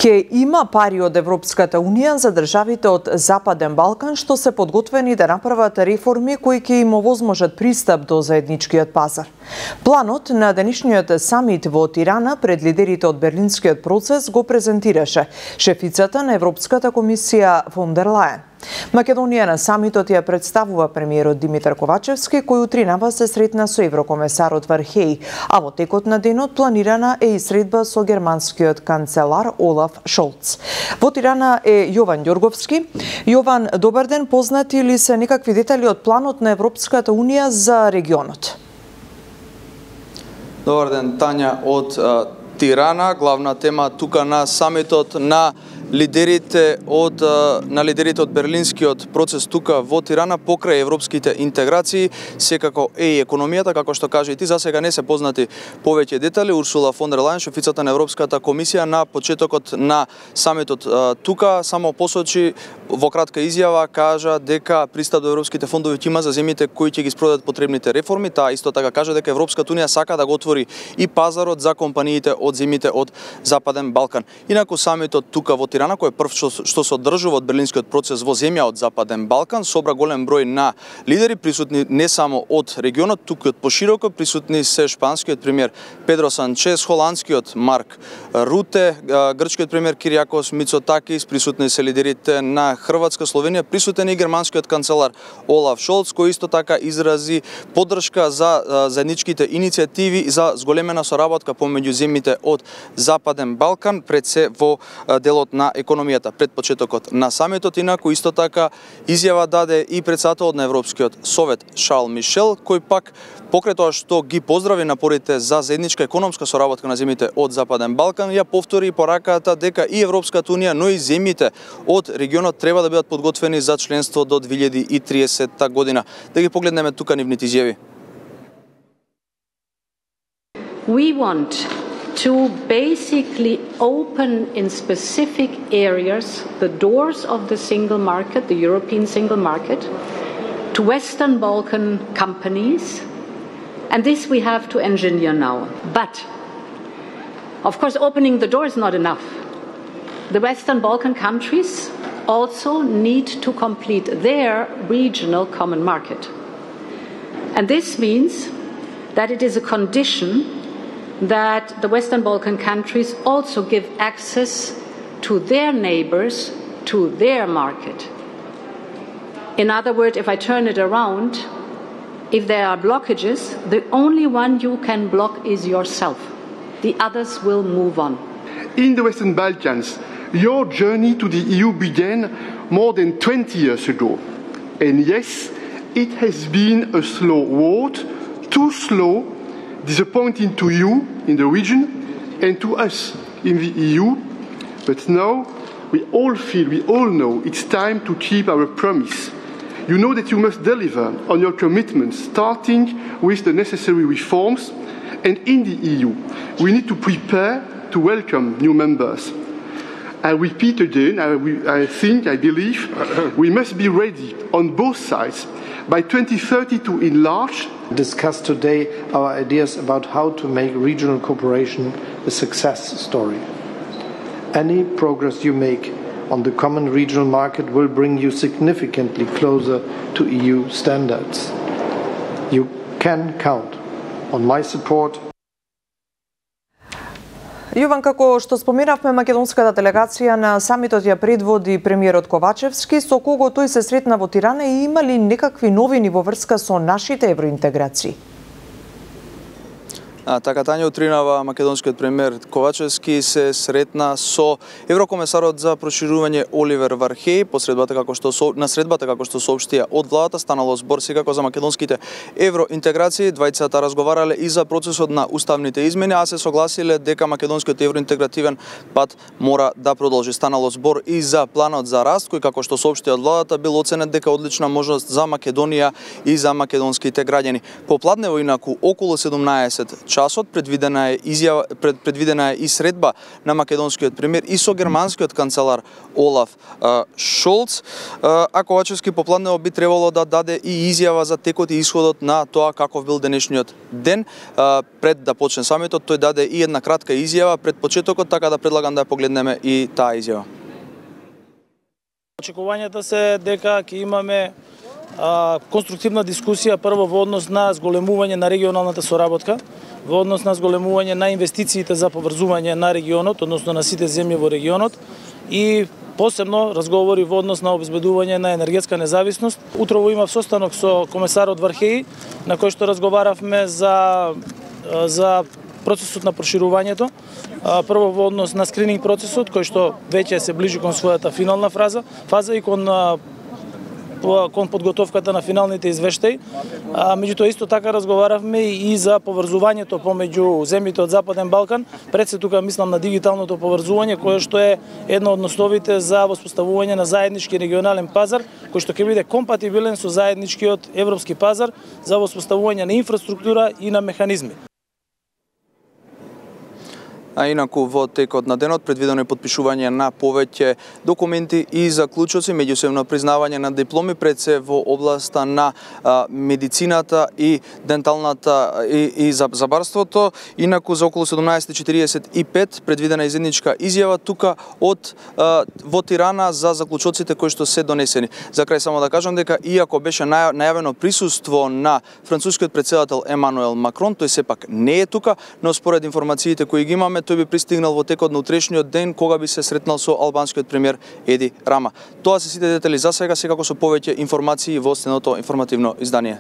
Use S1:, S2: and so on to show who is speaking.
S1: Ке има пари од Европската Унија за државите од Западен Балкан што се подготвени да направат реформи кои ќе им овозможат пристап до заедничкиот пазар. Планот на денешниот самит во Тирана пред лидерите од Берлинскиот процес го презентираше шефицата на Европската комисија фон дер Лајен. Македонија на самитот ја представува премиерот Димитар Ковачевски, кој утринава се сретна со еврокомесарот Вархеј, а во текот на денот планирана е и средба со германскиот канцелар Олаф Шолц. Во Тирана е Јован Ѓорговски. Јован, добар ден, познати ли се некакви детали од планот на Европската Унија за регионот?
S2: Добар ден, Тања од Тирана. Главна тема тука на самитот на лидерите од Берлинскиот процес тука во Тирана покрај европските интеграции, секако е и економијата, како што кажа и ти, засега не се познати повеќе детали. Урсула фон дер Лајен, шефицата на Европската комисија, на почетокот на самитот тука само посочи во кратка изјава, кажа дека пристап до европските фондови ќе има за земјите кои ќе ги спроведат потребните реформи. Таа исто така кажа дека Европската Унија сака да го отвори и пазарот за компаниите од земјите од Западен Балкан. Инаку самитот тука во Тирана, кој е прв што се одржува од Берлинскиот процес во земја од Западен Балкан, собра голем број на лидери присутни не само од регионот, туку и од пошироко присутни се шпанскиот премиер Педро Санчес, холандскиот Марк Руте, грчкиот премиер Кириакос Мицотакис, присутни се лидерите на Хрватска, Словенија, присутен и германскиот канцелар Олаф Шолц, кој исто така изрази поддршка за заедничките иницијативи за зголемена соработка помеѓу земјите од Западен Балкан, пред се во делот на економијата пред почетокот на самитот. Инаку исто така изјава даде и претседателот на Европскиот совет Шарл Мишел, кој пак покрај тоа што ги поздрави напорите за заедничка економска соработка на земјите од Западен Балкан, ја повтори пораката дека и Европската Унија, но и земјите од регионот треба да бидат подготвени за членство до 2030 година. Да ги погледнеме тука нивните изјави.
S3: We want to basically open in specific areas the doors of the single market, the European single market, to Western Balkan companies, and this we have to engineer now. But, of course, opening the door is not enough. The Western Balkan countries also need to complete their regional common market. And this means that it is a condition that the Western Balkan countries also give access to their neighbors, to their market. In other words, if I turn it around, if there are blockages, the only one you can block is yourself. The others will move on.
S4: In the Western Balkans, your journey to the EU began more than 20 years ago. And yes, it has been a slow road, too slow, disappointing to you in the region and to us in the EU. But now we all know it's time to keep our promise. You know that you must deliver on your commitments, starting with the necessary reforms. And in the EU, we need to prepare to welcome new members. I repeat again, I believe, we must be ready on both sides by 2030 to enlarge.
S5: Discuss today our ideas about how to make regional cooperation a success story. Any progress you make on the common regional market will bring you significantly closer to EU standards. You can count on my support.
S1: Јован, како што споменавме, македонската делегација на самитот ја предводи премиерот Ковачевски, со кого тој се сретна во Тирана и има ли некакви новини во врска со нашите евроинтеграции?
S2: Така, Тања, утринава македонскиот премиер Ковачевски се сретна со еврокомесарот за проширување Оливер Вархеј на средбата како што соопштија од владата. Станало збор секако за македонските евроинтеграции. Двајцата разговарале и за процесот на уставните измени, а се согласиле дека македонскиот евроинтегративен пат мора да продолжи. Станало збор и за планот за раст, кој како што соопштија од владата бил оценет дека одлична можност за Македонија и за македонските граѓани. Попладнево инаку околу 17 часот. Предвидена е и средба на македонскиот премиер и со германскиот канцелар Олаф Шолц. А Ковачевски попладнево би требало да даде и изјава за текот и исходот на тоа каков бил денешниот ден. Пред да почне самитот, тој даде и една кратка изјава пред почетокот, така да предлагам да ја погледнеме и таа изјава.
S6: Очекувањата се дека ќе имаме конструктивна дискусија прво во однос на зголемување на регионалната соработка, во однос на зголемување на инвестициите за поврзување на регионот, односно на сите земји во регионот и посебно разговори во однос на обезбедување на енергетска независност. Утрово имав состанок со комесарот Вархеи, на кој што разговаравме за процесот на проширувањето, прво во однос на скрининг процесот, кој што веќе се ближи кон својата финална фаза и кон подготовката на финалните извештаи. Меѓутоа исто така разговаравме и за поврзувањето помеѓу земјите од Западен Балкан, пред се тука мислам на дигиталното поврзување, кое што е една од основите за воспоставување на заеднички регионален пазар, кој што ќе биде компатибилен со заедничкиот европски пазар за воспоставување на инфраструктура и на механизми.
S2: А инаку во текот на денот предвидено е потпишување на повеќе документи и заклучоци, меѓусебно признавање на дипломи пред се во областа на медицината и денталната и забарството. Инаку за околу 17:45 предвидена изедничка изјава тука во Тирана за заклучоците кои што се донесени. За крај само да кажам дека иако беше најавено присуство на францускиот претседател Емануел Макрон, тој сепак не е тука, но според информациите кои ги имаме, тој би пристигнал во текот на утрешниот ден кога би се сретнал со албанскиот премиер Еди Рама. Тоа се сите детали за сега, секако со повеќе информации во следното информативно издание.